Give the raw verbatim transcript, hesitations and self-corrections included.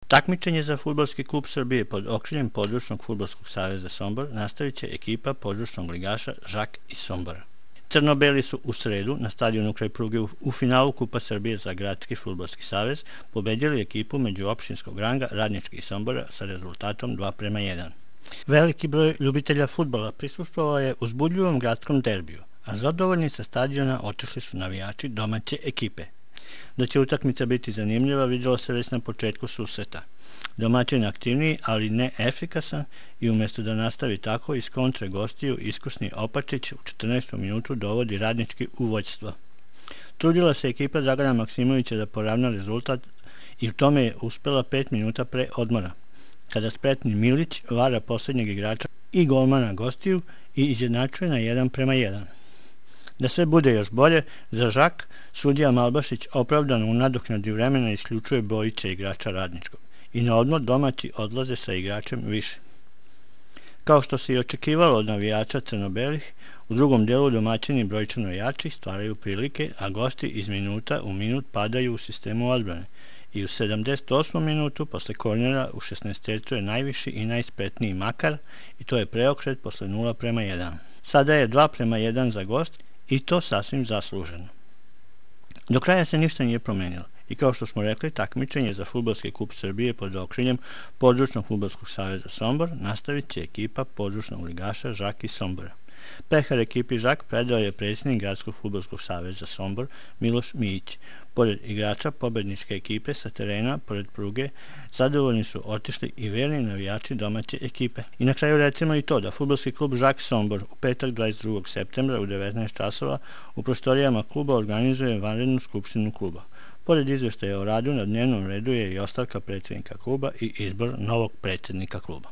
Takmičenje za Fudbalski klub Srbije pod okriljem Područnog fudbalskog saveza Sombor nastavit će ekipa područnog ligaša Žak iz Sombora. Crno-beli su u sredu na stadionu kraj pruge u finalu Kupa Srbije za Gradski fudbalski savez pobedili ekipu međuopštinskog ranga Radnički iz Sombora sa rezultatom dva prema jedan. Veliki broj ljubitelja fudbala prisustvovao je uzbudljivom gradskom derbiju, a zadovoljni sa stadiona otišli su navijači domaće ekipe. Da će utakmica biti zanimljiva vidjelo se već na početku susreta. Domaćin aktivniji, ali ne efikasan i umjesto da nastavi tako iz kontre gostiju iskusni Opačić u četrnaestom minutu dovodi Radnički u vođstvo. Trudila se ekipa Dragana Maksimovića da poravna rezultat i u tome je uspela pet minuta pre odmora, kada spretni Milić vara posljednjeg igrača i golmana gostiju i izjednačuje na jedan prema jedan. Da sve bude još bolje, za Žak sudija Malbašić opravdano u nadoknadi vremena isključuje bojice igrača Radničkog i na odmor domaći odlaze sa igračem više. Kao što se i očekivalo od navijača crno-belih, u drugom delu domaćini brojčano jači stvaraju prilike, a gosti iz minuta u minut padaju u sistemu odbrane i u sedamdeset osmom minutu posle kornera u šesnaestercu je najviši i najspretniji Makar i to je preokret posle nula prema jedan. Sada je dva prema jedan za gost i to sasvim zasluženo. Do kraja se ništa nije promenilo i kao što smo rekli, takmičenje za Fudbalski klub Srbije pod okriljem Područnog fudbalskog saveza Sombor nastavit će ekipa područnog ligaša Žak iz Sombora. Pehar ekipi Žak predao je predsjednik Gradskog fudbalskog saveza Sombor Miloš Mijić. Pored igrača pobedničke ekipe sa terena, pored pruge, zadovoljni su otišli i verni navijači domaće ekipe. I na kraju recimo i to da Fudbalski klub Žak Sombor u petak dvadeset drugog septembra u devetnaest časova u prostorijama kluba organizuje vanrednu skupštinu kluba. Pored izveštaja o radu na dnevnom redu je i ostavka predsjednika kluba i izbor novog predsjednika kluba.